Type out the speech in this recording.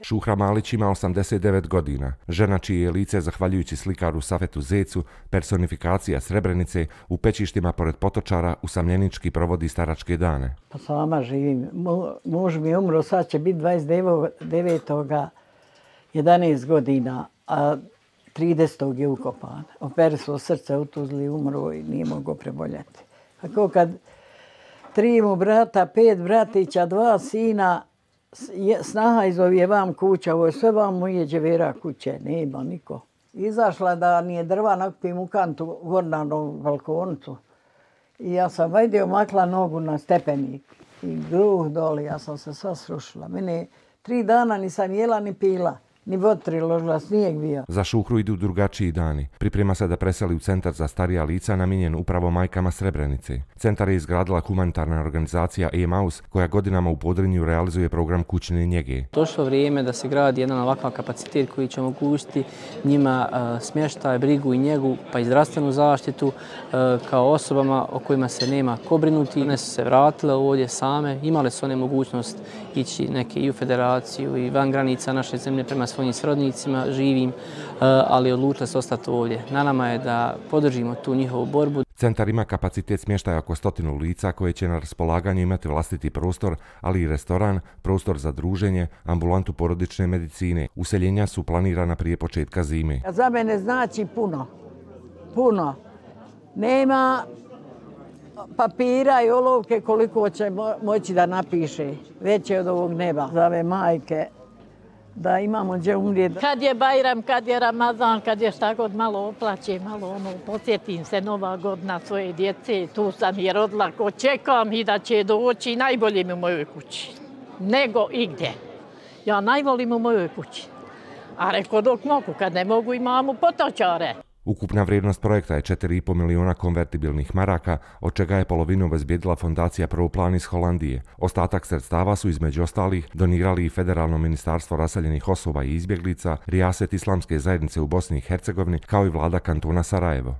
Šuhra Malić ima 89 godina, žena čije je lice, zahvaljujući slikaru Safetu Zecu, personifikacija Srebrenice, u pećištima pored Potočara usamljenički provodi staračke dane. Pa sama živim. Muž mi je umro, sad će biti 29. 11 godina, a 30. je ukopan. Operisalo srce u Tuzli, umro i nije mogao preboljeti. Tako kad 3 mu brata, 5 bratića, 2 sina, snaha izovije vam kuća, ovo je sve vam moje dževera kuće, nema niko. Izašla da nije drva, nakupim u kantu gor na balkoncu. I ja sam vajde omakla nogu na stepenik i gruh doli, ja sam se sva srušila. Mene 3 dana nisam jela ni pila. Ni vodri ložila, snijeg bio. Za Šuhru idu drugačiji dani. Priprema se da preseli u centar za starija lica namijenjen upravo majkama Srebrenice. Centar je izgradila humanitarna organizacija Emaus koja godinama u Podrinju realizuje program kućne njege. Došlo vrijeme da se gradi jedan ovakav kapacitet koji će omogućiti njima smještaj, brigu i njegu, pa i zdravstvenu zaštitu kao osobama o kojima se nema ko brinuti. One su se vratile ovdje same, imale su one mogućnost ići neke i u federaciju i van granica naše zemlje prema svojim srodnicima živim, ali odlučile se ostati ovdje. Na nama je da podržimo tu njihovu borbu. Centar ima kapacitet smještaja oko 100 lica koje će na raspolaganju imati vlastiti prostor, ali i restoran, prostor za druženje, ambulantu porodične medicine. Useljenja su planirana prije početka zime. Za mene znači puno. Puno. Nema papira i olovke koliko će moći da napiše. Veće od ovog neba. Za ove majke da imamo gdje umrijeti. Kad je Bajram, kad je Ramazan, kad je šta god malo oplaće, malo posjetim se Nova godina svoje djece, tu sam je rodila, ko čekam i da će doći, najbolje mi u mojoj kući, nego igdje. Ja najvolim u mojoj kući, a reko dok mogu, kad ne mogu imamo Potočare. Ukupna vrijednost projekta je 4,5 miliona konvertibilnih maraka, od čega je polovinu obezbijedila fondacija Proplan iz Holandije. Ostatak sredstava su između ostalih donirali i Federalno ministarstvo raseljenih osoba i izbjeglica, Rijaset Islamske zajednice u Bosni i Hercegovini, kao i vlada kantona Sarajevo.